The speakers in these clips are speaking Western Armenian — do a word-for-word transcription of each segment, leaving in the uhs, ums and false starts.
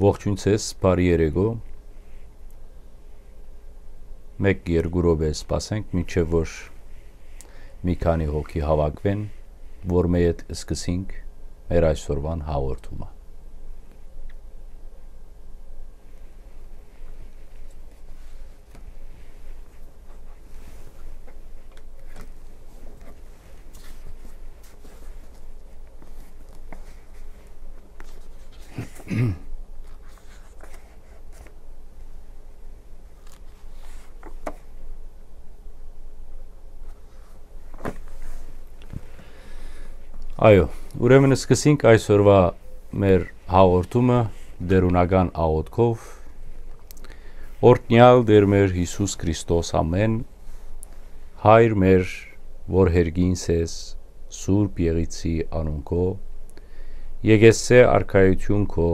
Ողջույն ձեզ, բարի երեկո։ Մեկ երկու րոպե սպասենք, մինչեւ որ մի քանի հոգի հաւաքուին, որ մէ հետ սկսենք մեր այսօրուան հաղորդումը։ Այո, ուրեմն սկսենք այսօրվա մեր հաղորդումը տէրունական աղօթքով։ Օրհնեալ Տէր մեր Յիսուս Քրիստոս, ամէն, Հայր մեր, որ հերգին ես, Սուրբ Եղիցի անունքով, եկեցէ արքայութիւն քո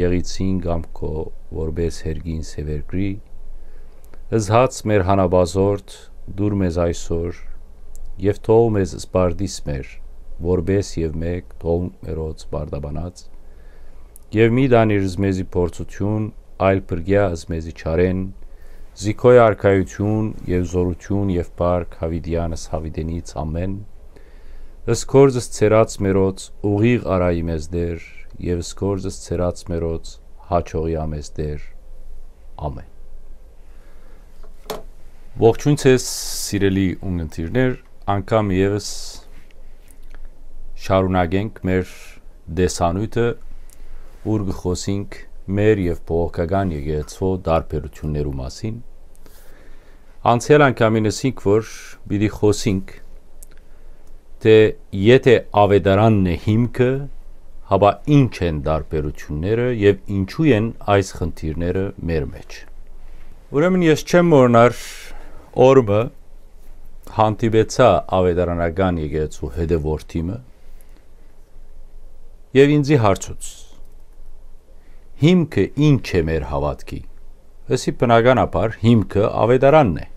Եղիցին կամ քո որպէս հերգին Սեւերկրի, զհաց մեր հանապազորդ, դուր մեզ այսօր, եւ թող մեզ սպարտիս մեր, որպէս եւ մէկ թող մերոց պարտաբանած, եւ մի տանիր զմեզի փորձութիւն, այլ փրկեա զմեզի չարէն, զի քոյ արքայութիւն եւ զօրութիւն եւ փառք յաւիտեանս յաւիտենից ամէն։ Ըսկորձս ցերած մերոց ուղիղ արայի մեզ Տէր, եւ ըսկորձս ցերած մերոց հաճողի ամեզ Տէր։ Ամէն։ Ողջույն ձեզ, սիրելի ունգընտիրներ, անգամ եւս շարունակենք մեր տեսանիւթը, ուր կը խօսենք մեր եւ բողոքական եկեղեցու տարբերութիւններու մասին։ Անցեալ անգամին ըսինք, որ պիտի խօսենք, թէ եթէ աւետարանն է հիմքը, հապա ի՞նչ են տարբերութիւնները եւ ինչու են այս խնդիրները մեր մէջ։ Ուրեմն ես չեմ մոռնար օրը հանդիպեցայ աւետարանական եկեղեցու հետեւորդի մը եւ ինձի հարցուց. «Հիմքը ի՞նչ է մեր հաւատքի»։ Ըսի, բնականաբար, հիմքը աւետարանն է։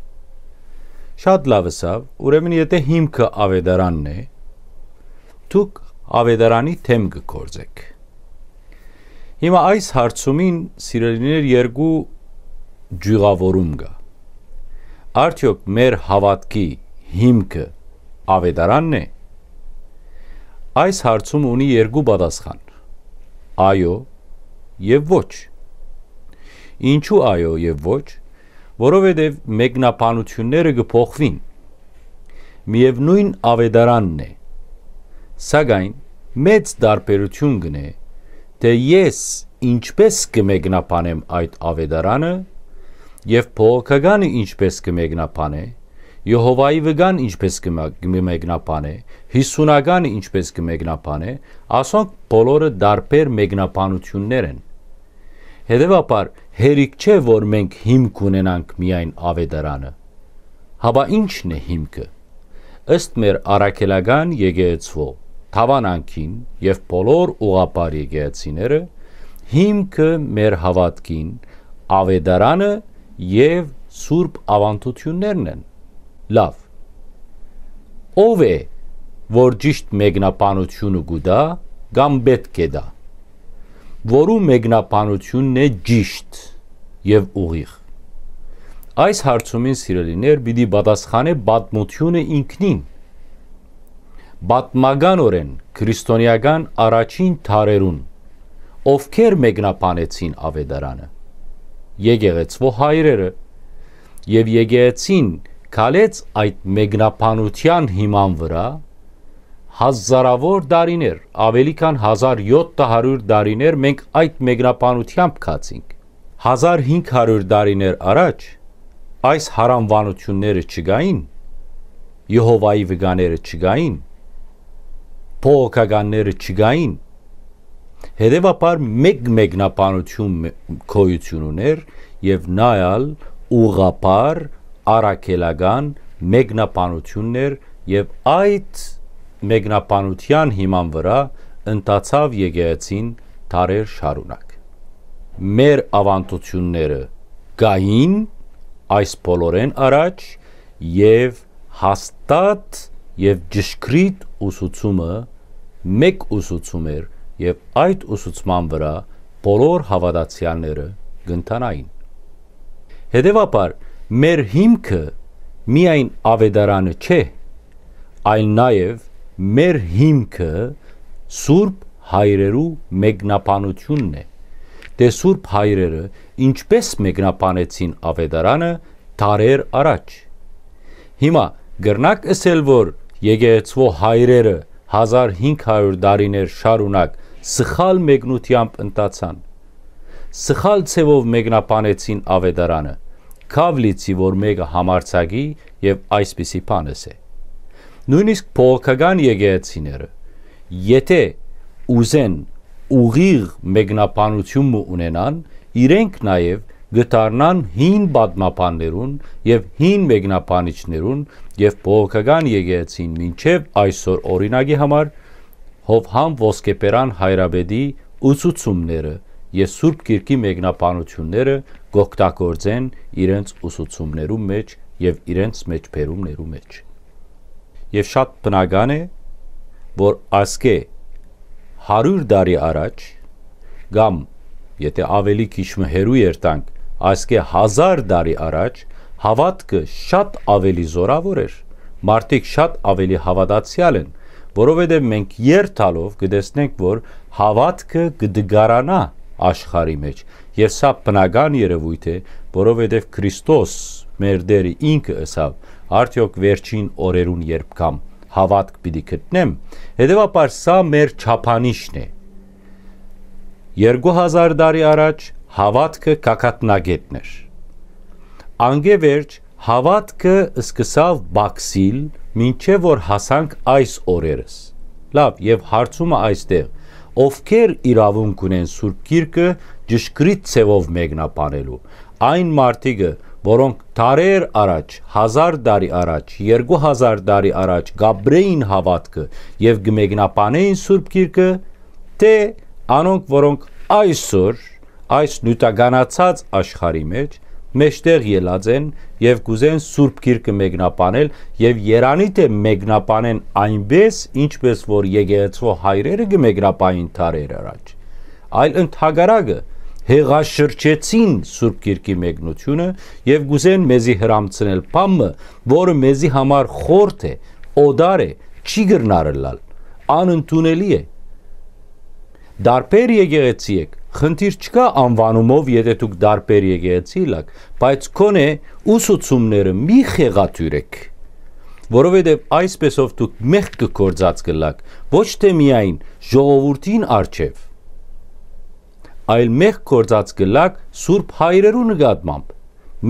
Շատ լաւ ըսաւ, ուրեմն եթէ հիմքը աւետարանն է, դուք աւետարանի դէմ կը գործէք։ Հիմա այս հարցումին, սիրելիներ, երկու ճիւղաւորում կայ։ Արդեօք մեր հաւատքի հիմքը աւետարանն է։ Այս հարցումը ունի երկու պատասխան. այո եւ ոչ։ Ինչու այո եւ ոչ։ Որովհետեւ մեկնաբանութիւնները կը փոխուին, միեւնոյն աւետարանն է, սակայն մեծ տարբերութիւն կ'ընէ, թէ ես ինչպէս կը մեկնաբանեմ այդ աւետարանը եւ բողոքականը ինչպէս կը մեկնաբանէ, Եհովայի վկան ինչպէս կը մա-, կը մեկնաբանէ, յիսունականը ինչպէս կը մեկնաբանէ, ասոնք բոլորը տարբեր մեկնաբանութիւններ են։ Հետեւաբար, հերիք չէ, որ մենք հիմք ունենանք միայն աւետարանը։ Հապա ի՞նչն է հիմքը։ Ըստ մեր առաքելական եկեղեցու դաւանանքին եւ բոլոր ուղղափառ եկեղեցիները, հիմքը մեր հաւատքին աւետարանը եւ սուրբ աւանդութիւններն են։ Լաւ։ Ո՞վ է, որ ճիշդ մեկնաբանութիւնը կու տայ կամ պէտք է տայ։ Որու մեկնաբանութիւնն է ճիշտ եւ ուղիղ։ Այս հարցումին, սիրելիներ, պիտի պատասխանէ պատմութիւնը ինքնին։ Պատմականօրէն քրիստոնեական առաջին դարերուն ովքեր մեկնաբանեցին աւետարանը։ Եկեղեցվո հայրերը, եւ եկեղեցին քալեց այդ մեկնաբանութեան հիման վրայ հազարաւոր տարիներ, աւելի քան հազար յոթ հարիւր տարիներ մենք այդ մեկնաբանութեամբ գացինք։ Հազար հինգ հարիւր տարիներ առաջ այս յարանուանութիւնները չկային, Եհովայի վկաները չկային, բողոքականները չկային, հետեւաբար մէկ մեկնաբանութիւն մէ-, գոյութիւն ունէր եւ նայալ ուղղափառ առաքելական մեկնաբանութիւնն էր եւ այդ մեկնաբանութեան հիման վրայ ընթացաւ եկեղեցին դարեր շարունակ։ Մեր աւանդութիւնները կային այս բոլորէն առաջ եւ հաստատ եւ ճշգրիտ ուսուցումը մէկ ուսուցում էր եւ այդ ուսուցման վրայ բոլոր հաւատացեալները կ'ընթանային։ Հետեւաբար, մեր հիմքը միայն աւետարանը չէ, այլ նաեւ մեր հիմքը Սուրբ Հայրերու մեկնաբանութիւնն է, թէ Սուրբ Հայրերը ինչպէս մեկնաբանեցին աւետարանը դարեր առաջ։ Հիմա կրնա՞ք ըսել, որ եկեղեցւոյ հայրերը հազար հինգ հարիւր տարիներ շարունակ սխալ մեկնութեամբ ընթացան, սխալ ձեւով մեկնաբանեցին աւետարանը, քաւ լիցի որ մէկը համարձակի եւ այսպիսի բան ըսէ։ Նոյնիսկ բողոքական եկեղեցիները, եթէ ուզեն ուղիղ մեկնաբանութիւն մը ունենան, իրենք նաեւ կը դառնան հին պատմաբաններուն եւ հին մեկնաբանիչներուն, եւ բողոքական եկեղեցին մինչեւ այսօր, օրինակի համար, Յովհան Ոսկեբերան հայրապետի ուսուցումները եւ Սուրբ Գիրքի մեկնաբանութիւնները կ'օգտագործեն իրենց ուսուցումներու մէջ եւ իրենց մէջբերումներու մէջ։ Եւ շատ բնական է, որ ասկէ հարիւր տարի առաջ, կամ եթէ աւելի քիչ մը հեռու երթանք, ասկէ հազար տարի առաջ, հաւատքը շատ աւելի զօրաւոր էր, մարդիկ շատ աւելի հաւատացեալ են, որովհետեւ մենք երթալով կը տեսնենք, որ հաւատքը կը դգարանայ աշխարհի մէջ, եւ սա բնական երեւոյթ է, որովհետեւ Քրիստոս, մեր Տէրը ինքը ըսաւ. «Արդեօք վերջին օրերուն երբ գամ, հաւատք պիտի գտնեմ»։ Հետեւաբար, սա մեր չափանիշն է։ Երկու հազար տարի առաջ հաւատքը գագաթնակէտն էր։ Անկէ վերջ հաւատքը սկսաւ պակսիլ, մինչեւ որ հասանք այս օրերս։ Լաւ, եւ հարցումը այստեղ. ովքեր իրաւունք ունեն Սուրբ Գիրքը ճշգրիտ ձեւով մեկնաբանելու։ Այն մարդիկը, որոնք դարեր առաջ, հազար տարի առաջ, երկու հազար տարի առաջ կ'ապրէին հաւատքը եւ կը մեկնաբանէին Սուրբ Գիրքը, թէ անոնք, որոնք այսօր այս նիւթականացած աշխարհի մէջ մէջտեղ ելած են եւ կ'ուզեն Սուրբ Գիրքը մեկնաբանել, եւ երանի թէ մեկնաբանեն այնպէս, ինչպէս որ եկեղեցւոյ հայրերը կը մեկնաբանին դարեր առաջ, այլ ընդհակառակը, հեղաշրջեցին Սուրբ Գիրքի մեկնութիւնը եւ կ'ուզեն մեզի հրամցնել բան մը, որը մեզի համար խորթ է, օտար է, չի կրնար ըլլալ, անընդունելի է։ Դարբեր եկեղեցի եք, խնդիր չկայ անուանումով, եթէ դուք դարբեր եկեղեցի ըլաք, բայց քոնէ ուսուցումները մի խեղաթիւրէք, որովհետեւ այսպէսով դուք մեղք կը գործած կ'ըլաք, ոչ թէ միայն ժողովուրդին առջեւ, այլ մեղք գործած կ'ըլաք Սուրբ Հայրերու նկատմամբ,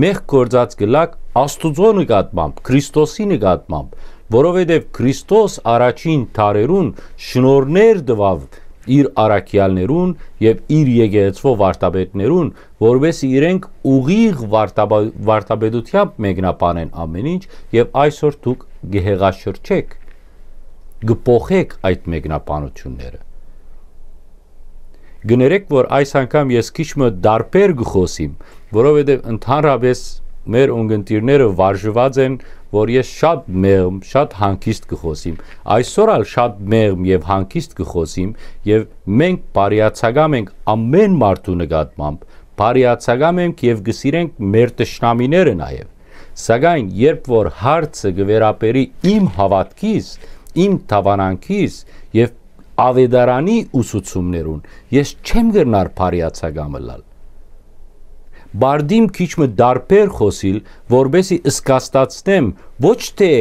մեղք գործած կ'ըլաք Աստուծոյ նկատմամբ, Քրիստոսի նկատմամբ, որովհետեւ Քրիստոս առաջին դարերուն շնորհներ տուաւ իր առաքեալներուն եւ իր եկեղեցւոյ վարդապետներուն, որպէս զի իրենք ուղիղ վարդապա-, վարդապետութեամբ մեկնաբանեն ամէն ինչ, եւ այսօր դուք կը հեղաշրջէք, կը փոխէք այդ մեկնաբանութիւնները։ Կներեք, որ այս անգամ ես քիչ մը դարբեր կը խօսիմ, որովհետեւ ընդհանրապէս մեր ունկնդիրները վարժուած են, որ ես շատ մեղմ, շատ հանգիստ կը խօսիմ։ Այսօր ալ շատ մեղմ եւ հանգիստ կը խօսիմ, եւ մենք բարեացակամ ենք ամէն մարդու նկատմամբ, բարեացակամ ենք եւ կը սիրենք մեր թշնամիները նաեւ։ Սակայն երբ որ հարցը կը վերաբերի իմ հաւատքիս, իմ դաւանանքիս եւ աւետարանի ուսուցումներուն, ես չեմ կրնար բարեացակամ ըլլալ։ Բարդիմ քիչ մը դարբեր խօսիլ, որպէս զի զգաստացնեմ ոչ թէ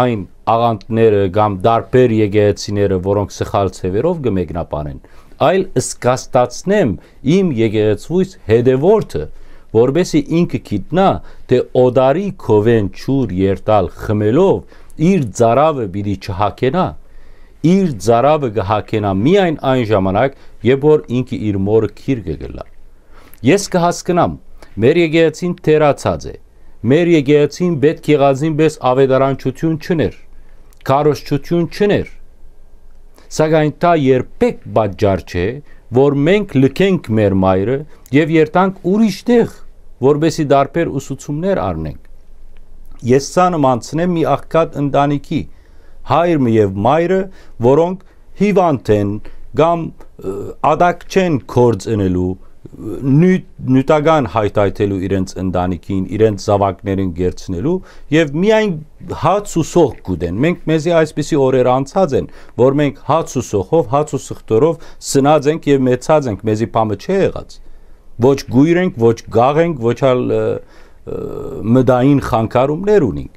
այն աղանդները կամ դարբեր եկեղեցիները, որոնք սխալ ձեւերով կը մեկնաբանեն, այլ զգաստացնեմ իմ եկեղեցուիս հետեւորդը, որպէս զի ինքը գիտնայ, թէ օտարի քովէն ջուր երթալ խմելով իր ծարաւը պիտի չհագենայ, իր ծարաւը կը հագենայ միայն այն ժամանակ, երբ որ ինքը իր մօրը գիրկը կ'ըլլայ։ Ես կը հասկնամ, մեր եկեղեցին թերացած է, մեր եկեղեցին պէտք եղածին պէս աւետարանչութիւն չուներ, քարոզչութիւն չուներ, սակայն դա երբեք պատճառ չէ, որ մենք լքենք մեր մայրը եւ երթանք ուրիշ տեղ, որպէս զի դարբեր ուսուցումներ առնենք։ Ես սա նմանցնեմ մի աղքատ ընտանիքի, հայրը եւ մայրը, որոնք հիվանդ են կամ, ը, ատակ չեն գործ ընելու, նիւթ-, նիւթական հայթայթելու իրենց ընտանիքին, իրենց զաւակներուն կերցնելու եւ միայն հաց ու սոխ կուտեն։ Մենք, մեզի այսպիսի օրեր անցած են, որ մենք հաց ու սոխով, հաց ու սխտորով սնած ենք եւ մեծած ենք, մեզի բան մը չէ եղած։ Ոչ կոյր ենք, ոչ կաղ ենք, ոչ ալ, ը, ը, մտային խանգարումներ ունենք։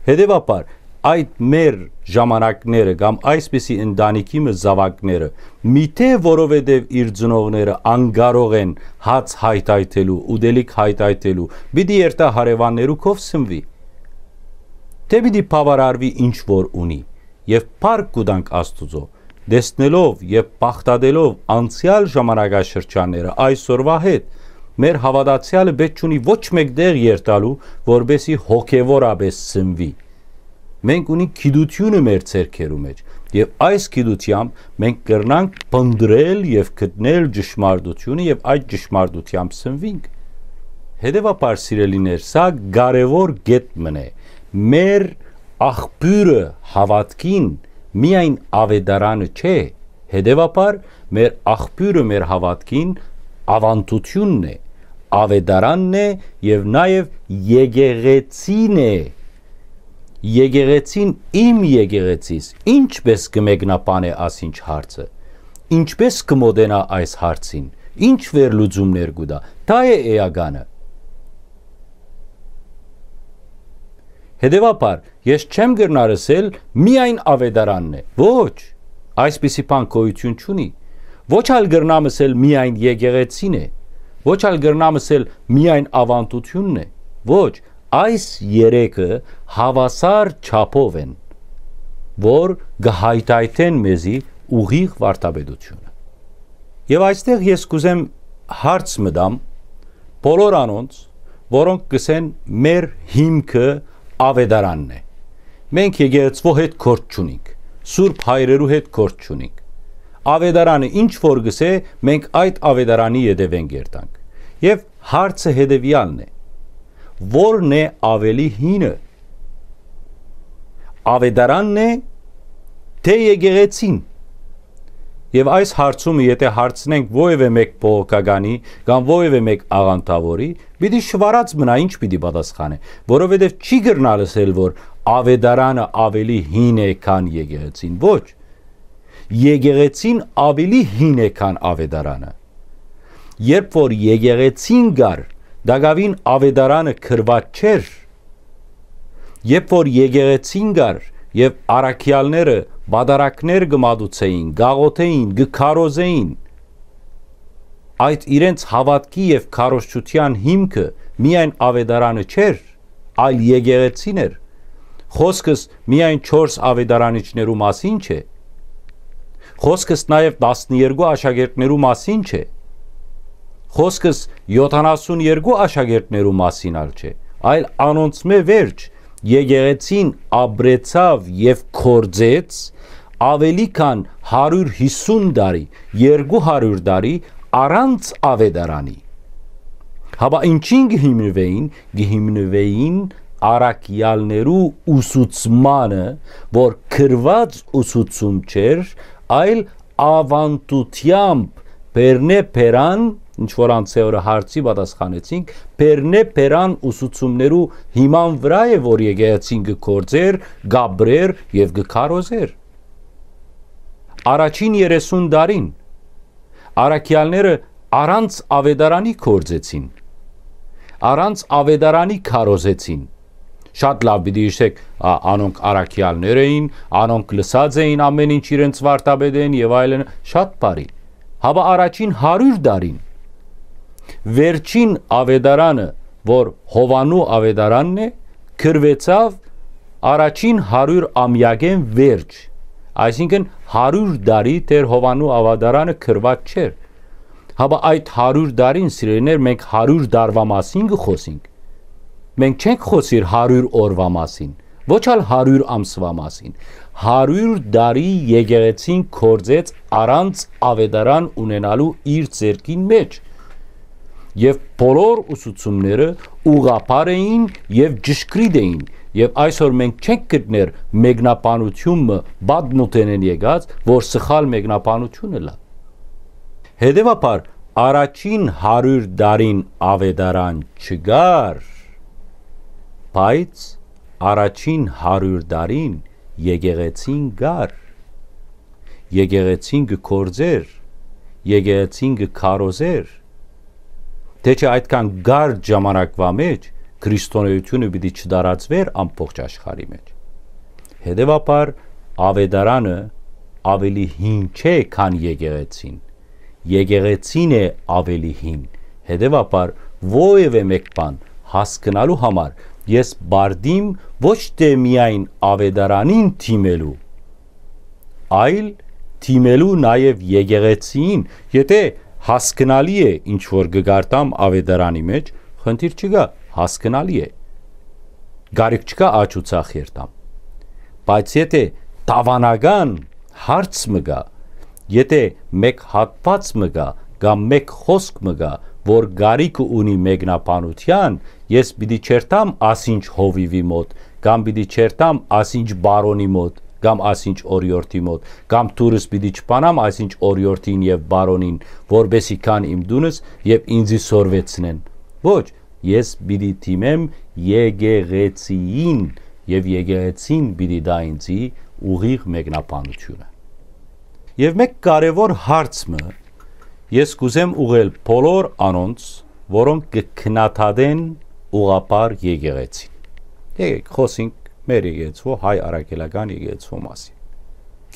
Հետեւաբար, այդ մեր ժամանակները կամ այսպիսի ընտանիքի մը զաւակները, միթէ որովհետեւ իր ծնողները անկարող են հաց հայթայթելու, ուտելիք հայթայթելու, պիտի երթայ հարեւաններու քով սնուի։ Թէ պիտի բաւարարուի ինչ որ ունի, եւ փառք կու տանք Աստուծոյ, տեսնելով եւ բաղդատելով անցեալ ժամանակաշրջանները այսօրվա հետ, մեր հաւատացեալը պէտք չունի ոչ մէկ տեղ երթալու, որպէսզի հոգեւորապէս սնուի։ Մենք ունենք գիտութիւնը մեր ձեռքերու մէջ, եւ այս գիտութեամբ մենք կրնանք փնտռել եւ գտնել ճշմարտութիւնը եւ այդ ճշմարտութեամբ սնուինք։ Հետեւաբար, սիրելիներ, սա կարեւոր կետ մըն է։ Մեր աղբիւրը հաւատքին միայն աւետարանը չէ, հետեւաբար մեր աղբիւրը մեր հաւատքին աւանդութիւնն է, աւետարանն է եւ նաեւ եկեղեցին է։ Եկեղեցին, իմ եկեղեցիս, ինչպէս կը մեկնաբանէ ասինչ հարցը, ինչպէս կը մոտենայ այս հարցին, ինչ վերլուծումներ կու տայ, դա է էականը։ Հետեւաբար, ես չեմ կրնար ըսել միայն աւետարանն է։ Ոչ, այսպիսի բան գոյութիւն չունի։ Ոչ ալ կրնամ ըսել միայն եկեղեցին է։ Ոչ ալ կրնամ ըսել միայն աւանդութիւնն է։ Ոչ, այս երեքը հաւասար չափով են, որ կը հայթայթեն մեզի ուղիղ վարդապետութիւնը։ Եւ այստեղ ես կ'ուզեմ հարց մտամ բոլոր անոնց, որոնք կ'ըսեն, մեր հիմքը աւետարանն է։ Մենք եկեղեցւոյ հետ գործ չունինք, սուրբ հայրերու հետ գործ չունինք։ Աւետարանը ինչ որ կ'ըսէ, մենք այդ աւետարանի ետեւէն կ'երթանք։ Եւ հարցը հետեւեալն է. ո՞րն է աւելի հինը, աւետարանն է, թէ եկեղեցին։ Եւ այս հարցումը, եթէ հարցնենք որեւէ մէկ բողոքականի կամ որեւէ մէկ աղանդաւորի, պիտի շվարած մնայ, ինչ պիտի պատասխանէ, որովհետեւ չի կրնալ ըսել, որ աւետարանը աւելի հին է, քան եկեղեցին։ Ոչ, եկեղեցին աւելի հին է, քան աւետարանը։ Երբ որ եկեղեցին կար, տակաւին աւետարանը գրուած չէր, երբ որ եկեղեցին կար եւ առաքեալները պատարագներ կը մատուցէին, կ'աղօթէին, կը քարոզէին, այդ իրենց հաւատքի եւ քարոզչութեան հիմքը միայն աւետարանը չէր, այլ եկեղեցին էր։ Խօսքս միայն չորս աւետարանիչներու մասին չէ։ Խօսքս նաեւ տասներկու աշակերտներու մասին չէ։ Խօսքս յոթանասուն երկու աշակերտներու մասին ալ չէ, այլ անոնցմէ վերջ եկեղեցին ապրեցաւ եւ գործեց աւելի քան հարիւր յիսուն տարի, երկու հարիւր տարի առանց աւետարանի։ Հապա ինչին կը հիմնուէին, կը հիմնուէին առաքեալներու ուսուցմանը, որ գրուած ուսուցում չէր, այլ աւանդութեամբ բերնե բերան, ինչ որ անցեօրը հարցի պատասխանեցինք, բերնե բերան ուսուցումներու հիման վրայ է, որ եկեղեցին կը գործէր, կ'ապրէր եւ կը քարոզէր։ Առաջին երեսուն տարին առաքեալները առանց աւետարանի գործեցին, առանց աւետարանի քարոզեցին։ Շատ լաւ պիտի յիշեք, ա, անոնք առաքեալներ էին, անոնք լսած էին ամէն ինչ իրենց վարդապետէն եւ այլն, շատ բարի։ Հապա առաջին հարիւր տարին, վերջին աւետարանը, որ Յովանու աւետարանն է, գրուեցաւ առաջին հարիւր ամեակէն վերջ, այսինքն հարիւր տարի Տէր Յովանու աւետարանը գրուած չէր։ Հապա այդ հարիւր տարին, սիրելիներ, մենք հարիւր տարուա մասին կը խօսինք։ Մենք չենք խօսիր հարիւր օրուա մասին, ոչ ալ հարիւր ամսուա մասին։ Հարիւր տարի եկեղեցին գործեց առանց աւետարան ունենալու իր ձեռքին մէջ։ Եւ բոլոր ուսուցումները ուղղափառ էին եւ ճշգրիտ էին, եւ այսօր մենք չենք գտներ մեկնաբանութիւն մը պատմութենէն եկած, որ սխալ մեկնաբանութիւն ըլլայ։ Հետեւաբար, առաջին հարիւր տարին աւետարան չկար, բայց առաջին հարիւր տարին եկեղեցին կար, եկեղեցին կը գործէր, եկեղեցին կը քարոզէր, թէ չէ այդքան կարճ ժամանակուայ մէջ քրիստոնէութիւնը պիտի չտարածուէր ամբողջ աշխարհի մէջ։ Հետեւաբար, աւետարանը աւելի հին չէ, քան եկեղեցին։ Եկեղեցին է աւելի հին։ Հետեւաբար, որեւէ մէկ բան հասկնալու համար ես պարտիմ ոչ թէ միայն աւետարանին դիմելու, այլ դիմելու նաեւ եկեղեցիին։ Եթէ հասկնալի է ինչ որ կը կարդամ աւետարանի մէջ, խնդիր չկայ, հասկնալի է, կարիք չկայ աջ ու ձախ երթամ։ Բայց եթէ դաւանական հարց մը կայ, եթէ մէկ հատուած մը կայ կամ մէկ խօսք մը կայ, որ կարիքը ունի մեկնաբանութեան, ես պիտի չերթամ ասինչ հովիւի մօտ, կամ պիտի չերթամ ասինչ պարոնի մօտ, կամ ասինչ օրիորդի մօտ, կամ դուրս պիտի չփանամ ասինչ օրիորդին եւ պարոնին, որպէս զի գան իմ տունս եւ ինծի սորվեցնեն։ Ոչ, ես պիտի դիմեմ եկեղեցիին, եւ եկեղեցին պիտի տայ ինծի ուղիղ մեկնաբանութիւնը։ Եւ մէկ կարեւոր հարց մը ես կ'ուզեմ ուղղել բոլոր անոնց, որոնք կը քննադատեն ուղղափառ եկեղեցին։ Եկեք խօսենք մեր եկեղեցու, հայ առաքելական եկեղեցու մասին։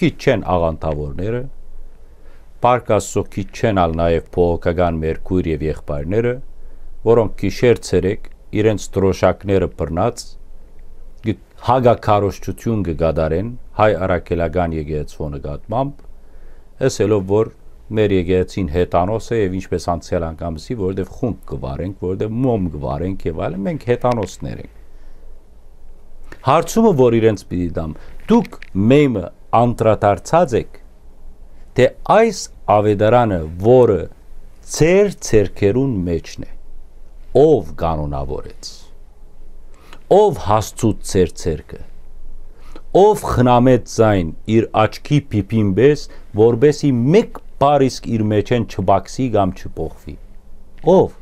Քիչ չեն աղանդաւորները, Փառք Աստուծոյ, քիչ չեն ալ նաեւ բողոքական մեր քոյր եւ եղբայրները, որոնք գիշեր ցերեկ իրենց դրօշակները բռնած, գ-, հակաքարոզչութիւն կը կատարեն հայ առաքելական եկեղեցու նկատմամբ, ըսելով որ մեր եկեղեցին հեթանոս է եւ ինչպես անցեալ անգամ ասի, որովհետեւ խունկ կը վարենք, որովհետեւ մոմ կը վարենք եւ այլն, մենք հեթանոսներ ենք։ Հարցումը որ իրենց պիտի տամ, դուք մեմը անդրադարձած եք, թէ այս աւետարանը, որը ձեր ձեռքերուն մէջն է, ով կանոնաւորեց, ով հասցուց ձեր ձեռքը, ով խնամեց զայն իր աչքի փիփին պէս, որպէս զի մէկ բառ իսկ իր մէջէն չբացի կամ չփոխուի։ Ով։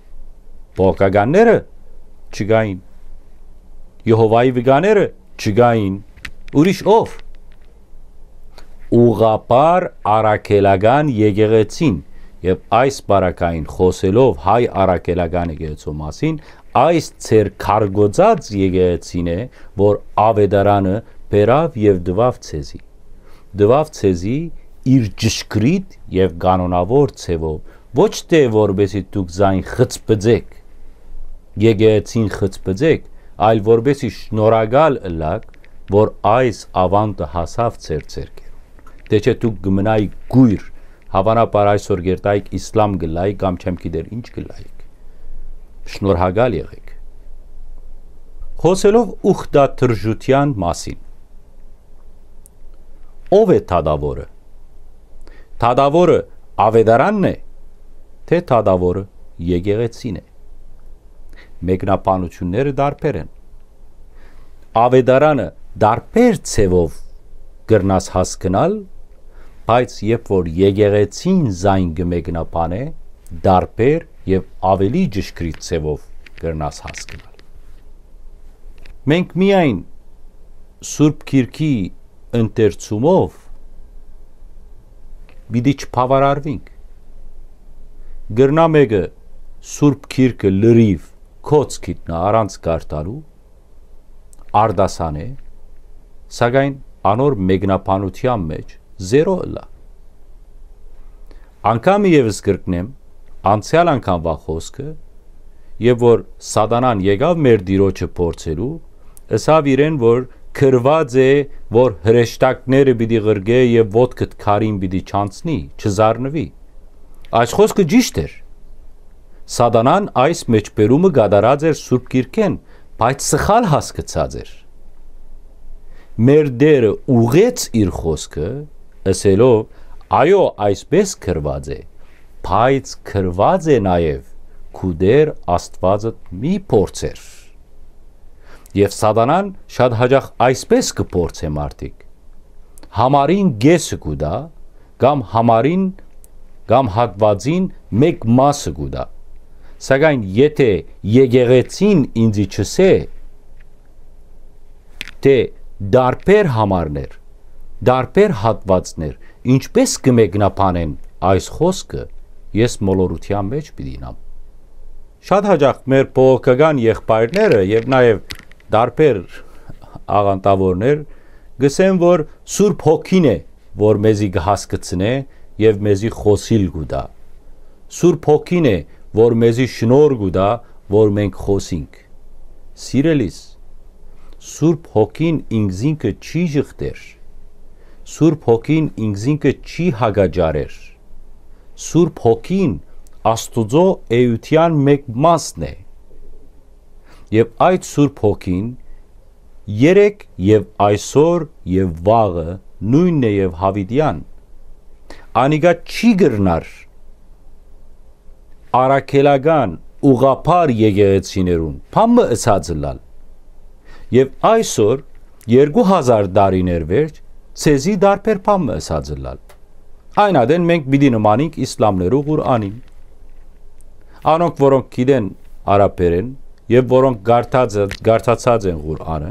Բողոքականները չկային, Եհովայի վկաները չկային, ուրիշ ով։ Ուղղափառ առաքելական եկեղեցին, եւ այս պարագային խօսելով հայ առաքելական եկեղեցու մասին, այս ձեր քարկոծած եկեղեցին է, որ աւետարանը բերաւ եւ տուաւ ձեզի, տուաւ ձեզի իր ճշգրիտ եւ կանոնաւոր ձեւով, ոչ թէ որպէս զի դուք զայն խցբծեք, եկեղեցին խցբծեք, այլ որպէս զի շնորհակալ ըլլաք, որ այս աւանդը հասաւ ձեր ձեռքերուն։ Թէ չէ դուք կը մնայիք կոյր, հաւանաբար այսօր կ'երթայիք, իսլամ կ'ըլլայիք կամ չեմ գիտեր ինչ կ'ըլլայիք։ Շնորհակալ եղէք։ Խօսելով ուխտադրժութեան մասին, ո՞վ է դատաւորը։ Դատաւորը աւետարանն է, թէ դատաւորը եկեղեցին է։ Մեկնաբանութիւնները տարբեր են։ Աւետարանը տարբեր ձեւով կրնաս հասկնալ, բայց երբ որ եկեղեցին զայն կը մեկնաբանէ, տարբեր եւ աւելի ճշգրիտ ձեւով կրնաս հասկնալ։ Մենք միայն Սուրբ Գիրքի ընթերցումով պիտի չբաւարարուինք։ Կրնայ մէկը Սուրբ Գիրքը լրիւ կոց գիտնայ առանց կարդալու, արտասանէ, սակայն անոր մեկնաբանութեան մէջ զերո ըլլայ։ Անգամ եւս կրկնեմ անցեալ անգամուայ խօսքը, երբ որ Սատանան եկաւ մեր Տիրոջը փորձելու, ըսաւ իրեն, որ գրուած է, որ հրեշտակները պիտի ղրկէ եւ ոտքդ քարին պիտի չանցնի, չզարնուի։ Այս խօսքը ճիշդ էր։ Սատանան այս մեջբերումը կատարած էր Սուրբ Գիրքէն, բայց սխալ հասկցած էր։ Մեր Տէրը ուղղեց իր խօսքը, ըսելով. «Այո, այսպես գրուած է, բայց գրուած է նաեւ. "Քու Տէր Աստուածդ մի փորձեր"»։ Եւ Սատանան շատ յաճախ այսպես կը փորձէ մարդիկ. համարին կէսը կու տայ, կամ համարին կամ հատուածին մէկ մասը կու տայ։ Սակայն եթէ եկեղեցին ինծի չըսէ, թէ տարբեր համարներ, տարբեր հատուածներ ինչպէս կը մեկնաբանեն այս խօսքը, ես մոլորութեան մէջ պիտի իյնամ։ Շատ յաճախ մեր բողոքական եղբայրները եւ նաեւ տարբեր աղանդաւորներ կ'ըսեն, որ Սուրբ Հոգին է, որ մեզի կը հասկցնէ եւ մեզի խօսիլ կու տայ։ Սուրբ Հոգին է, որ մեզի շնորհ կու տայ, որ մենք խօսինք։ Սիրելիս, Սուրբ Հոգին ինքզինքը չի ժխտեր։ Սուրբ Հոգին ինքզինքը չի հակաճառեր։ Սուրբ Հոգին Աստուծոյ էութեան մէկ մասն է։ Եւ այդ Սուրբ Հոգին երեկ եւ այսօր եւ վաղը նոյնն է եւ յաւիտեան։ Անիկա չի կրնար առաքելական ուղղափառ եկեղեցիներուն բան մը ըսած ըլլալ։ Եւ այսօր, երկու հազար տարիներ վերջ, ձեզի տարբեր բան մը ըսած ըլլալ։ Այն ատեն մենք պիտի նմանենք իսլամներու Ղուր'անին։ Անոնք, որոնք գիտեն արաբերեն եւ որոնք կարդացած, կարդացած են Ղուր'անը,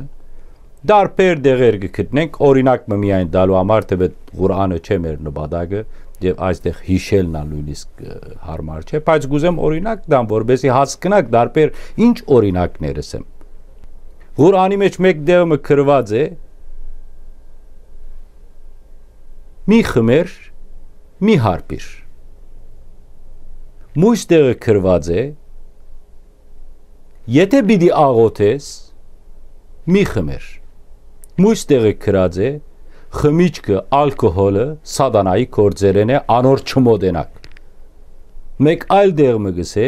տարբեր տեղեր կը գտնենք, օրինակ մը միայն տալու համար, թէ Ղուր'անը չէ մեր նպատակը, եւ այստեղ յիշելն ալ նոյնիսկ, ը, յարմար չէ, բայց կ'ուզեմ օրինակ տամ, որպեսզի հասկնաք տարբեր ինչ օրինակներ եմ։ Ղուր'անի մէջ մէկ տեղ մը գրուած է. «Մի խմեր, մի հարբիր»։ Մոյս տեղը գրուած է. «Եթէ պիտի աղօթես, մի խմեր»։ Մոյս տեղը գրած է. «Խմիչքը, ալկոհոլը սատանայի գործերէն է, անոր չմոտենաք»։ Մէկ այլ տեղ մը կ'ըսէ.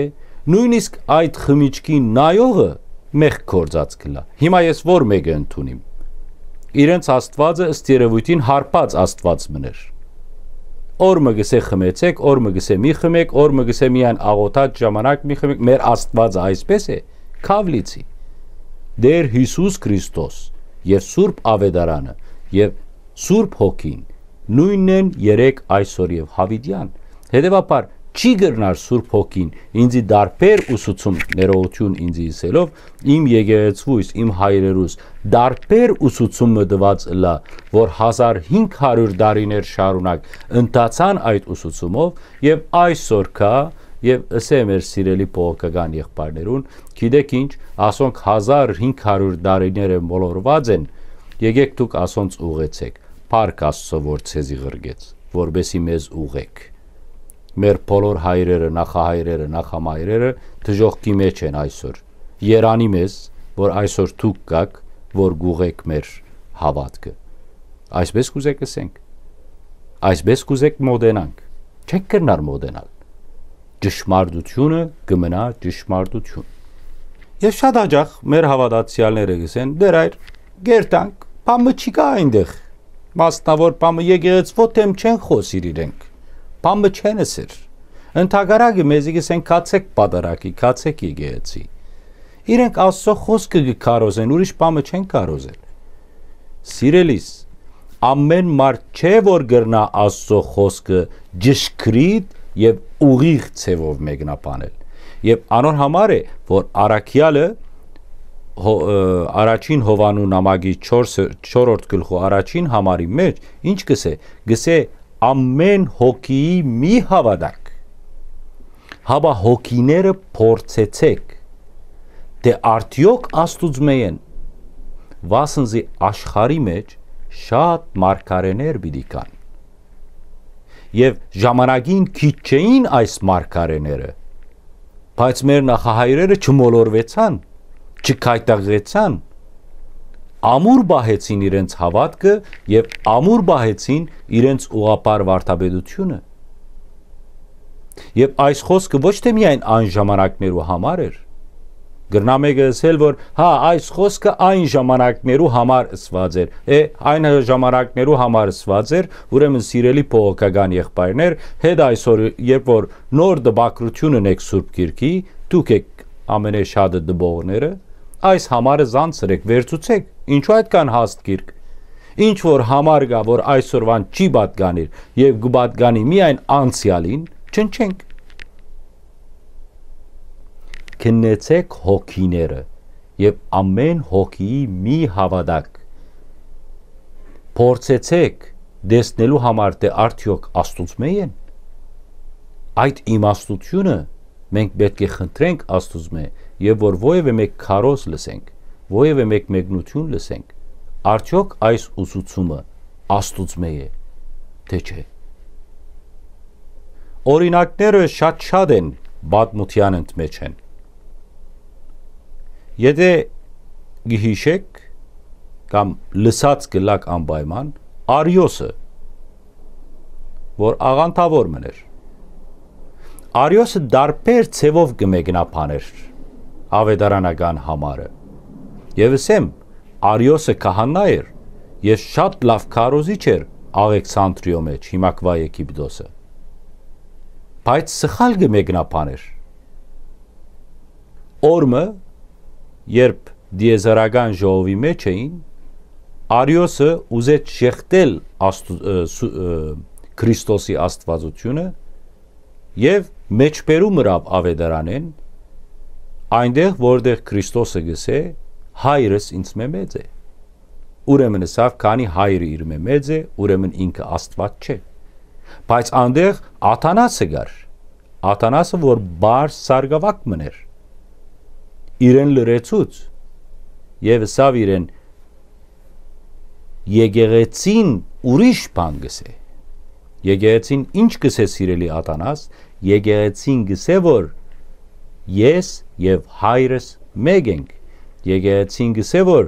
«Նոյնիսկ այդ խմիչքին նայողը մեղք գործած կ'ըլլայ»։ Հիմա ես ո՞ր մէկը ընդունիմ։ Իրենց Աստուածը ըստ երեւոյթին հարբած Աստուած մըն էր։ Օր մը կ'ըսէ՝ «Խմեցէք», օր մը կ'ըսէ՝ «Մի խմէք», օր մը կ'ըսէ՝ «Միայն աղօթած ժամանակ մի խմէք»։ Մեր Աստուածը այսպէս է, քաւ լիցի։ Տէր Յիսուս Քրիստոս եւ Սուրբ Աւետարանը եւ Սուրբ Հոգին նոյնն են երեկ, այսօր եւ յաւիտեան։ Հետեւաբար, չի կրնար Սուրբ Հոգին ինծի տարբեր ուսուցում, ներողություն ինծի ըսելով, իմ եկեղեցուս, իմ հայրերուս, տարբեր ուսուցում մը տուած ըլլայ, որ հազար հինգ հարիւր տարիներ շարունակ ընթացան այդ ուսուցումով, եւ այսօր կայ, եւ ըսէ մեր սիրելի բողոքական եղբայրներուն, գիտէք ինչ, ասոնք հազար հինգ հարիւր տարիներ է մոլորուած են, եկէք դուք ասոնց ուղղեցէք, փառք Աստծո, որ ձեզի ղրկեց, որպեսզի մեզ ուղղէք։ Մեր բոլոր հայրերը, նախահայրերը, նախամայրերը դժոխքի մէջ են այսօր։ Երանի մեզ, որ այսօր դուք կաք, որ կուղղէք մեր հաւատքը։ Այսպէս կ'ուզէք ըսենք։ Այսպէս կ'ուզէք մոտենանք։ Չենք կրնար մոտենալ։ Ճշմարտությունը կը մնայ ճշմարտություն։ Եւ շատ յաճախ մեր հաւատացեալները կ'ըսեն. «Տէր այր, կերտանք, բան մը չկայ այնտեղ»։ Մասնաւոր բան մը, եկեղեցւոյ դէմ չեն խօսիր իրենք, բան մը չեն ըսեր։ Ընդհակառակը, մեզի կ'ըսեն՝ «Գացէք պատարագի, գացէք եկեղեցի»։ Իրենք Աստուծոյ խօսքը կը քարոզեն, ուրիշ բան մը չեն քարոզեր։ Սիրելիս, ամէն մարդ չէ, որ կրնայ Աստուծոյ խօսքը ճշգրիտ եւ ուղիղ ձեւով մեկնաբանել։ Եւ անոր համար է, որ առաքեալը հո-, ը, առաջին Յովհաննու նամակի չորս, չորրորդ գլխու առաջին համարի մէջ ինչ կ'ըսէ, կ'ըսէ. «Ամէն հոգիի մի հաւատաք, հապա հոգիները փորձեցէք, թէ արդեօք Աստուծմէ են, վասն զի աշխարհի մէջ շատ մարգարէներ պիտի գան»։ Եւ ժամանակին քիչ չէին այս մարգարէները, բայց մեր նախահայրերը չմոլորուեցան, չքայտակղեցան, ամուր պահեցին իրենց հաւատքը եւ ամուր պահեցին իրենց ուղղափառ վարդապետությունը։ Եւ այս խօսքը ոչ թէ միայն այն ժամանակներու համար էր։ Կրնայ մէկը ըսել, որ հա, այս խօսքը այն ժամանակներու համար ըսուած էր։ Է, այն ժամանակներու համար ըսուած էր, ուրեմն, սիրելի բողոքական եղբայրներ, հետ այսօր, երբ որ նոր տպագրություն ունեք Սուրբ Գիրքի, դուք եք ամենէ շատը տպողները, այս համարը զանցրեք, վերցուցեք, ինչու այդքան հաստ գիրք։ Ինչ որ համար կայ, որ այսօրուան չի պատկանիր եւ կը պատկանի միայն անցեալին, չնչենք։ Քննեցէք հոգիները եւ ամէն հոգիի մի հաւատակ։ Փորձեցէք տեսնելու համար, թէ արդեօք Աստուծմէ են։ Այդ իմաստությունը մենք պէտք է խնդրենք Աստուծմէ, եւ որ որեւէ մէկ քարոզ լսենք, որեւէ մէկ մեկնութիւն լսենք, արդեօք այս ուսուցումը Աստուծմէ է, թէ չէ։ Օրինակները շատ-շատ են պատմութեան ընդմէջէն։ Եթէ կը յիշէք կամ լսած կ'ըլլաք անպայման, Արիոսը, որ աղանդաւոր մըն էր։ Արիոսը տարբեր ձեւով կը մեկնաբաներ աւետարանական համարը։ Եւ ըսեմ, Արիոսը քահանա էր եւ շատ լաւ քարոզիչ էր Աղեքսանտրիոյ մէջ, հիմակուայ Եգիպտոսը։ Բայց սխալ կը մեկնաբաներ։ Օրը մը, երբ տիեզերական ժողովի մէջ էին, Արիոսը ուզեց ժեշտել Աստու-, ը, սու-, ը, Քրիստոսի աստուածութիւնը եւ մէջբերում ըրաւ աւետարանէն, այնտեղ, որտեղ Քրիստոսը կ'ըսէ. «Հայրս ինծմէ մեծ է»։ Ուրեմն ըսաւ, քանի Հայրը իրմէ մեծ է, ուրեմն ինքը Աստուած չէ։ Բայց այնտեղ Աթանասը կար, Աթանասը, որ պարզ սարկաւակ մըն էր, իրեն լռեցուց եւ ըսաւ իրեն. «Եկեղեցին ուրիշ բան կ'ըսէ»։ Եկեղեցին ի՞նչ կ'ըսէ, սիրելի Աթանաս։ Եկեղեցին կ'ըսէ, որ ես եւ Հայրս մէկ ենք։ Եկեղեցին կ'ըսէ, որ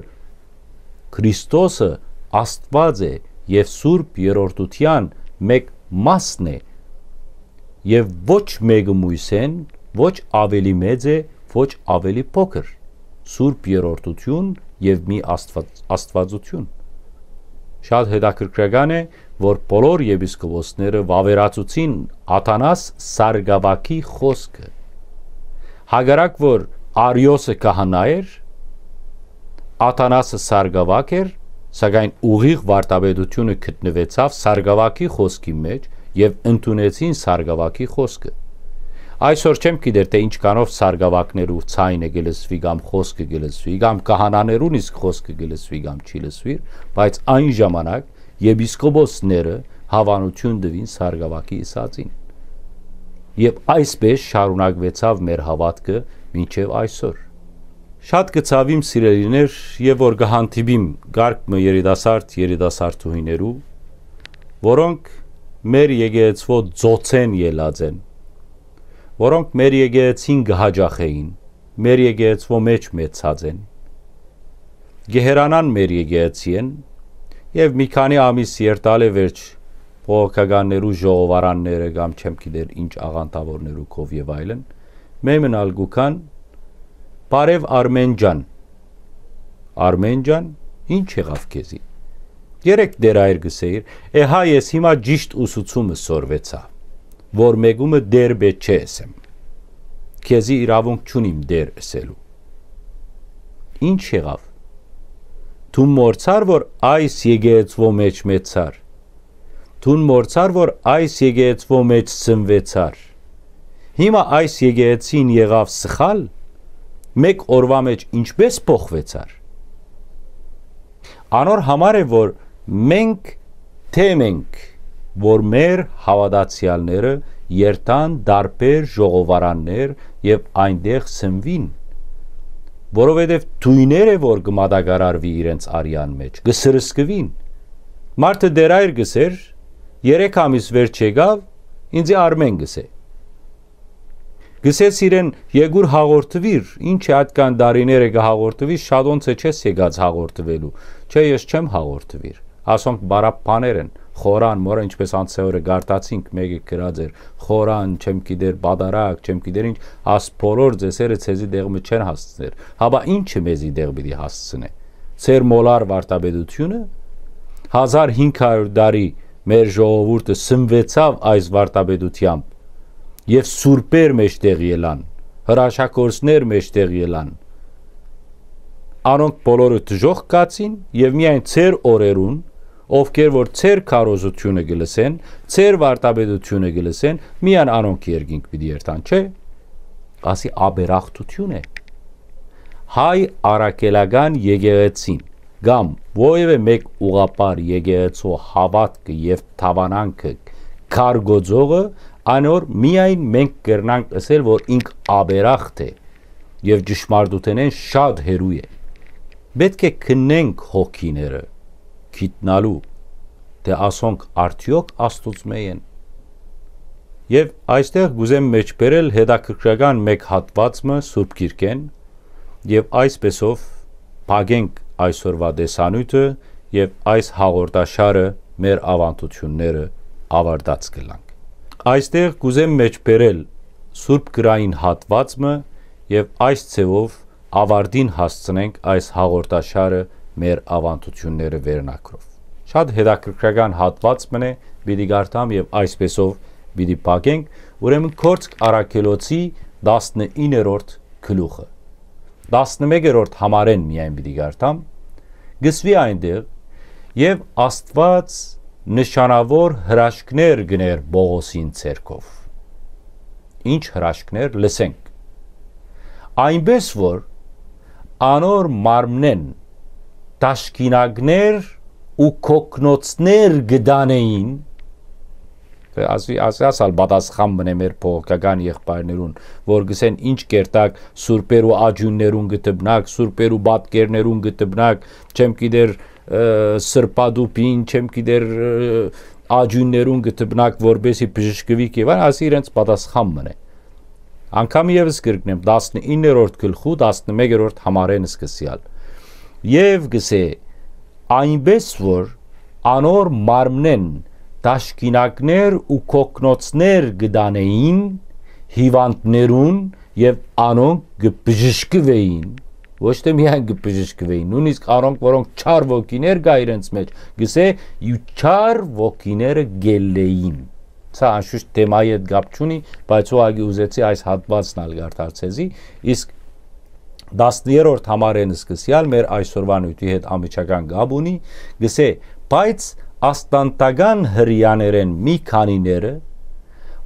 Քրիստոսը Աստուած է եւ Սուրբ Երրորդութեան մէկ մասն է, եւ ոչ մէկը միւսէն ոչ աւելի մեծ է, ոչ աւելի փոքր։ Սուրբ Երրորդութիւն եւ մի Աստուած-, Աստուածութիւն։ Շատ հետաքրքրական է, որ բոլոր եպիսկոպոսները վաւերացուցին Աթանաս սարկաւակի խօսքը։ Հակառակ որ Արիոսը քահանա էր, Աթանասը սարկաւակ էր, սակայն ուղիղ վարդապետութիւնը գտնուեցաւ սարկաւակի խօսքի մէջ եւ ընդունեցին սարկաւակի խօսքը։ Այսօր չեմ գիտեր, թէ ինչքանով սարկաւակներու ձայնը կը լսուի կամ խօսքը կը լսուի, կամ քահանաներուն իսկ խօսքը կը լսուի կամ չի լսուիր, բայց այն ժամանակ եպիսկոպոսները հաւանութիւն տուին սարկաւակի ըսածին։ Եւ այսպէս շարունակուեցաւ մեր հաւատքը մինչեւ այսօր։ Շատ կը ցաւիմ, սիրելիներ, եւ որ կը հանդիպիմ կարգ մը երիտասարդ, երիտասարդուհիներու, որոնք մեր եկեղեցւոյ ծոցէն ելած են, որոնք մեր եկեղեցին կը յաճախէին, մեր եկեղեցւոյ մէջ մեծցած են, կը հեռանան մեր եկեղեցիէն, եւ մի քանի ամիս երթալէ վերջ բողոքականներու ժողովարանները կամ չեմ գիտեր ինչ աղանդաւորներու քով եւ այլն, մեմն ալ կու գան. «Բարեւ, Արմէն ջան»։ «Արմէն ջան, ի՞նչ եղաւ քեզի»։ Երեկ Տեր Հայր կ'ըսէիր. «Է, հա, ես հիմա ճիշդ ուսուցումը սորվեցայ, որ մեկումը Տեր պէտք չէ ըսեմ։ Քեզի իրաւունք չունիմ Տեր ըսելու»։ Ի՞նչ եղաւ։ Դուն մոռցար, որ այս եկեղեցուոյ մէջ մեծցար։ Դուն մոռցար, որ այս եկեղեցուոյ մէջ սնվեցար։ Հիմա այս եկեղեցին եղաւ սխալ, մէկ օրուայ մէջ ինչպէս փոխուեցար։ Անոր համար է, որ մենք, թէ մենք, որ մեր հաւատացեալները երթան տարբեր ժողովարաններ եւ այնտեղ սնվին, որովհետեւ թոյները, որ կը մատակարարուի իրենց արեան մէջ, կը սրսկուին։ Մարդը Տեր Հայր կ'ըսէր, երեք ամիս վերջ եկաւ, ինձի Արմէն կ'ըսէ։ Կ'ըսես իրեն. «Եկուր հաղորդուիր, ի՞նչ է ատկան տարիները կը հաղորդուիս, շատոնց է չես եկած հաղորդուելու»։ «Չէ, ես չեմ հաղորդուիր, ասոնք բարապ բաներ են, խորան, մորը, ինչպես անցեօրը գարտացինք, մէկը գրած էր, խորան, չեմ գիտեր, պատարակ, չեմ գիտեր ինչ, աս բոլոր ձեսերը ձեզի տեղ մը չեն հասցներ, հապա ի՞նչը մեզի տեղ պիտի հասցնէ։ Ձեր մոլար վարդապետությունը, հազար հինգ հարիւր տարի մեր ժողովուրդը սնվեցաւ այս վարդապետութեամբ, եւ սուրբեր մէջտեղ ելան, հրաշագործներ մէջտեղ ելան։ Անոնք բոլորը դժոխք գացին, եւ միայն ձեր օրերուն Ովքեր որ ձեր քարոզութիւնը կը լսեն, ձեր վարդապետութիւնը կը լսեն, միայն անոնք երկինք պիտի երթան, չէ՞։ Ասի, աբերախտութիւն է։ Հայ առաքելական եկեղեցին կամ որևէ մէկ ուղղափառ եկեղեցու հաւատքը եւ դաւանանքը քարկոծողը, անոր միայն մենք կրնանք ըսել, որ ինք աբերախտ է եւ ճշմարտութենէն շատ հեռու է։ Պէտք է քննենք հոգիները, գիտնալու, թէ ասոնք արդեօք Աստուծմէ են։ Եւ այստեղ կ'ուզեմ մէջբերել հետաքրքրական մէկ հատուած մը Սուրբ Գիրքէն, եւ այսպեսով փակենք այսօրվա տեսանիւթը եւ այս հաղորդաշարը մեր աւանդութիւնները ավարտած կ'ըլլանք։ Այստեղ կ'ուզեմ մէջբերել Սուրբ Գրային հատուած մը եւ այս ձեւով ավարտին հասցնենք այս հաղորդաշարը մեր աւանդութիւնները վերնակրով։ Շատ հետաքրքրական հատուած մը է, պիտի կարդամ եւ այսպեսով պիտի փակենք, ուրեմն Գործք առաքելոցի տասնիններորդ գլուխը։ Տասնմեկերորդ համարէն միայն պիտի կարդամ, կ'ըսուի այնտեղ. «Եւ Աստուած նշանաւոր հրաշքներ կ'ընէր Պողոսին ձեռքով»։ Ինչ հրաշքներ, լսենք։ «Այնպէս որ անոր մարմնէն տաշկինակներ ու կոկնոցներ կը տանէին»։ Ասի, ասի, ասալ պատասխան մնե մեր փողոքական եղբայրներուն, որ գսեն ինչ կերտակ սուրբերու աջուններուն կը դպնակ, սուրբերու պատկերներուն կը դպնակ, չեմ գիտեր, ը, սրբատուփին, չեմ գիտեր, ը, աջուններուն կը դպնակ, որպեսի բժշկուիք եւ այլն, ասի իրենց պատասխան մնե։ Անգամ եւս կրկնեմ, տասնիններորդ գլխու, տասնմեկերորդ համարէն սկսեալ։ Եւ գսե, «Այնպէս որ անոր մարմնէն տաշկինակներ ու կոկնոցներ կը տանէին հիվանդներուն եւ անոնք կը բժշկուէին»։ Ոչ թէ միայն կը բժշկուէին, նոյնիսկ անոնք, որոնք չար ոգիներ կայ իրենց մէջ, գսե, «ու չար ոգիները գելլէին»։ Սա անշուշտ թեմայի հետ կապ չունի, բայց ուղղակի ուզեցի այս հատուածն ալ կարդալ ձեզի, իսկ տասներորդ համարէն սկսեալ մեր այսօրվա նիւթի հետ անմիջական կապ ունի, գսե, «Բայց աստանտական հրեաներէն մի քանիները,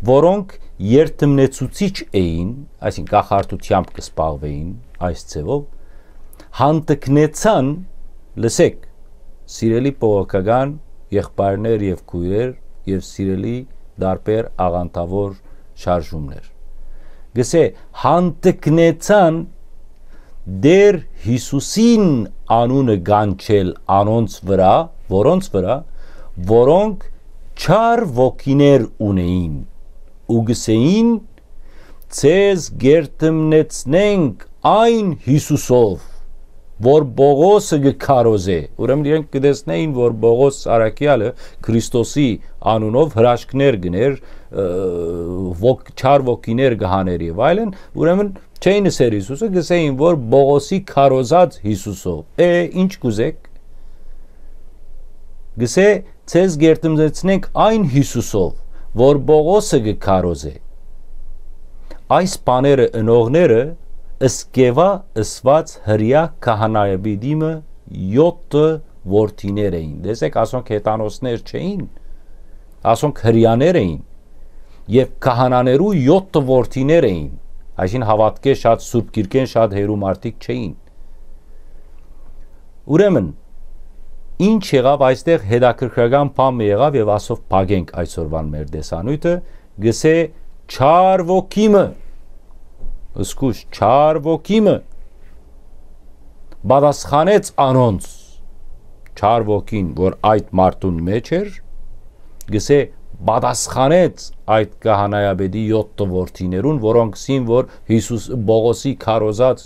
որոնք երդմնեցուցիչ էին», այսինքն կախարդութեամբ կը զբաղվէին այս ձևով, հանդգնեցան, լսեք, սիրելի բողոքական եղբայրներ եւ քոյրեր եւ սիրելի տարբեր աղանդաւոր շարժումներ, գսե, հանդգնեցան Տէր Յիսուսին անունը կանչել անոնց վրայ, որոնց վրայ, որոնք չար ոգիներ ունէին ու գսեին. «Ձեզ գերդմնեցնենք այն Յիսուսով, որ Պողոսը կը քարոզէ»։ Ուրեմն իրենք կը տեսնէին, որ Պողոս առաքեալը Քրիստոսի անունով հրաշքներ կ'ընէր, ը, ոգ-, չար ոգիներ կը հանէր եւ այլն, ուրեմն չէին ըսեր Յիսուսը, գսեին, որ Պողոսի քարոզած Յիսուսով։ Է, ինչ կ'ուզեք։ Գսե, «Ձեզ գերդմնեցնենք այն Յիսուսով, որ Պողոսը կը քարոզէ»։ Այս բաները ընողները Սկեվա ըսուած հրեա քահանայապետի մը յոթը որդիներ էին։ Տեսեք, ասոնք հեթանոսներ չէին, ասոնք հրեաներ էին, եւ քահանաներու յոթը որդիներ էին, այսինքն հաւատքէ շատ, Սուրբ Գիրքէն շատ հեռու մարդիկ չէին։ Ուրեմն, ինչ եղաւ այստեղ, հետաքրքրական բան մը եղաւ, եւ ասով փակենք այսօրվան մեր տեսանիւթը, գսե, չար ոգի մը, զգուշ, չար ոգի մը պատասխանեց անոնց, չար ոգին, որ այդ մարդուն մեջ էր, գսե, պատասխանեց այդ քահանայապետի յոթը որդիներուն, որոնք սին, որ Յիսուս, Պողոսի քարոզած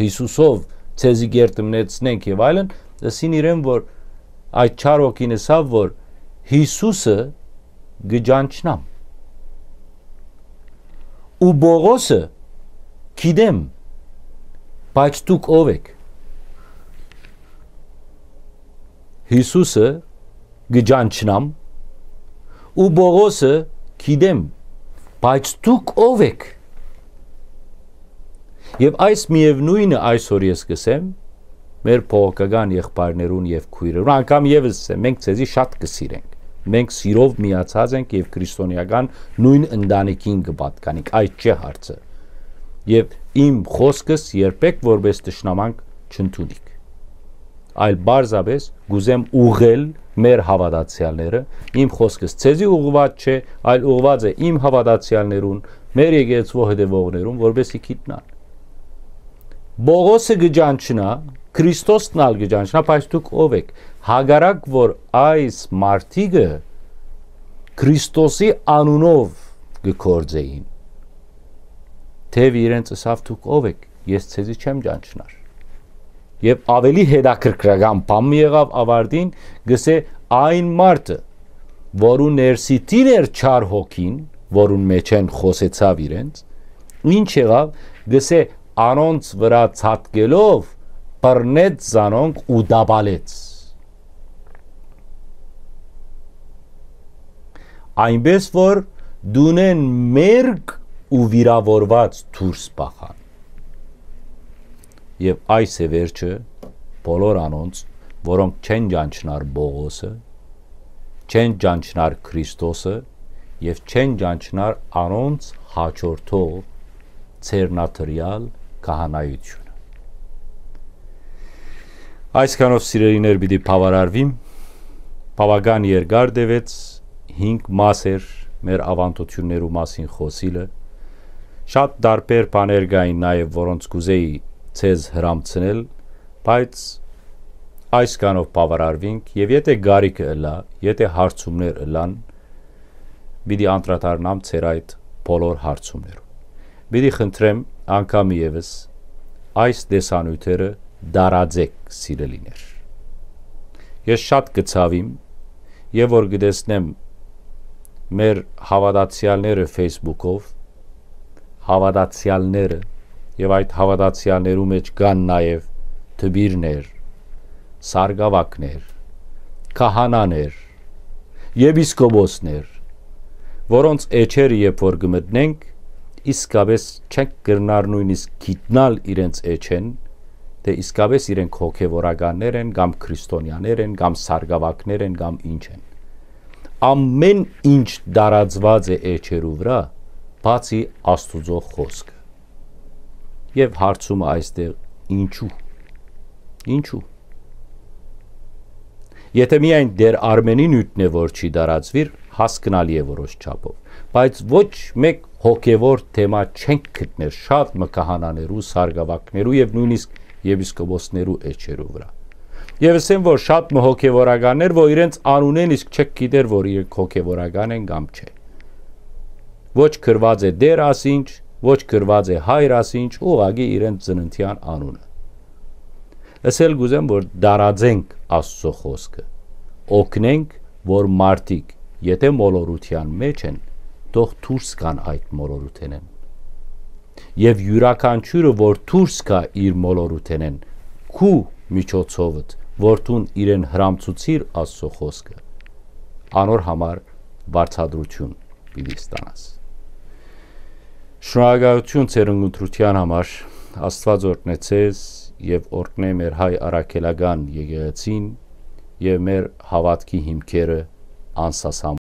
Յիսուսով ձեզի գերդմնեցնենք եւ այլն, ըսին իրեն, որ այդ չար ոգին ըսաւ, որ Յիսուսը կը ճանչնամ։ Ու Պողոսը գիտեմ, բայց դուք ով էք։ Յիսուսը կը ճանչնամ, ու Պողոսը գիտեմ, բայց դուք ով էք։ Եւ այս միեւնոյնը այսօր ես կ'ըսեմ, մեր բողոքական եղբայրներուն եւ քոյրերուն, անգամ եւս, մենք ձեզի շատ կը սիրենք։ Մենք սիրով միացած ենք եւ քրիստոնեական նոյն ընտանիքին կը պատկանենք, այդ չէ հարցը։ Եւ իմ խօսքս երբեք որպէս թշնամանք չընդունիք, այլ պարզապէս կ'ուզեմ ուղղել մեր հաւատացեալները։ Իմ խօսքս ձեզի ուղղուած չէ, այլ ուղղուած է իմ հաւատացեալներուն, մեր եկեղեցւոյ հետեւողներուն, որպէս զի գիտնան։ Պողոսը կը ճանչնայ, Քրիստոսն ալ կը ճանչնայ, բայց դուք ո՞վ էք։ Հակառակ որ այս մարդիկը Քրիստոսի անունով կը գործէին, թեւ իրենց ըսաւ. «Դուք ո՞վ էք, ես ձեզի չեմ ճանչնար»։ Եւ աւելի հետաքրքրական բան մը եղաւ, ավարտին կ'ըսէ. այն մարդը, որուն ներսիդին էր չար հոգին, որուն մէջէն խօսեցաւ իրենց, ինչ եղաւ, կ'ըսէ, անոնց վրայ ցատկելով, բռնեց զանոնք ու տապալեց, այնպէս որ տունէն մերկ ու վիրաւորուած դուրս բախան։ Եւ այս է վերջը բոլոր անոնց, որոնք չեն ճանչնար Պողոսը, չեն ճանչնար Քրիստոսը եւ չեն ճանչնար անոնց հաջորդող ձեռնադրեալ քահանայությունը։ Այսքանով, սիրելիներ, պիտի բաւարարվիմ։ Բաւական երկար տեւեց, հինգ մաս էր մեր աւանդութիւններու մասին խօսիլը։ Շատ տարբեր բաներ կային նաեւ, որոնց կ'ուզեի ձեզ հրամցնել, բայց այսքանով բաւարարվինք, եւ եթէ կարիքը ըլլայ, եթէ հարցումներ ըլլան, պիտի անդրադառնամ ձեր այդ բոլոր հարցումներուն։ Պիտի խնդրեմ անգամ եւս, այս տեսանիւթերը տարածէք, սիրելիներ։ Ես շատ կը ցաւիմ, եւ որ կը տեսնեմ մեր հաւատացեալները Facebook-ով, հաւատացեալները, եւ այդ հաւատացեալներու մէջ կան նաեւ դպիրներ, սարկաւակներ, քահանաներ, եպիսկոպոսներ, որոնց էջերը երբ որ կը մտնենք, իսկապէս չենք կրնար նոյնիսկ գիտնալ իրենց էջէն, թէ իսկապէս իրենք հոգեվորականներ են, կամ քրիստոնեաներ են, կամ սարկաւակներ են, կամ ինչ են։ Ամէն ինչ տարածուած է էջերու վրայ, բացի Աստուծոյ խօսքը։ Եւ հարցումը այստեղ՝ ինչու։ Ինչու։ Եթէ միայն Տէր Արմէնի նիւթն է, որ չի տարածուիր, հասկնալի է որոշ չափով, բայց ոչ մէկ հոգեվոր թեմա չենք գտներ շատ մը քահանաներու, սարկաւակներու եւ նոյնիսկ եպիսկոպոսներու էջերու վրայ։ Եւս են որ շատ մը հոգեվորականներ, որ իրենց անունէն իսկ չեք գիտեր, որ իրենք հոգեվորական են կամ չէ։ Ոչ գրուած է Տէր ասինչ, ոչ գրուած է Հայր ասինչ, ուղղակի իրենց ծննդեան անունը։ Ըսել կ'ուզեմ, որ տարածենք Աստուծոյ խօսքը, օգնենք, որ մարդիկ, եթէ մոլորութեան մէջ են, թող դուրս գան այդ մոլորութենէն։ Եւ իւրաքանչիւրը, որ դուրս գայ իր մոլորութենէն, քու միջոցովդ, որ դուն իրեն հրամցուցիր Աստուծոյ խօսքը, անոր համար վարձատրութիւն պիտի ստանաս։ Շնորհակալութիւն ձեր ընտրութեան համար։ Աստուած օրհնե ձեզ եւ օրհնե մեր հայ առաքելական եկեղեցին եւ մեր հաւատքի հիմքերը անսասան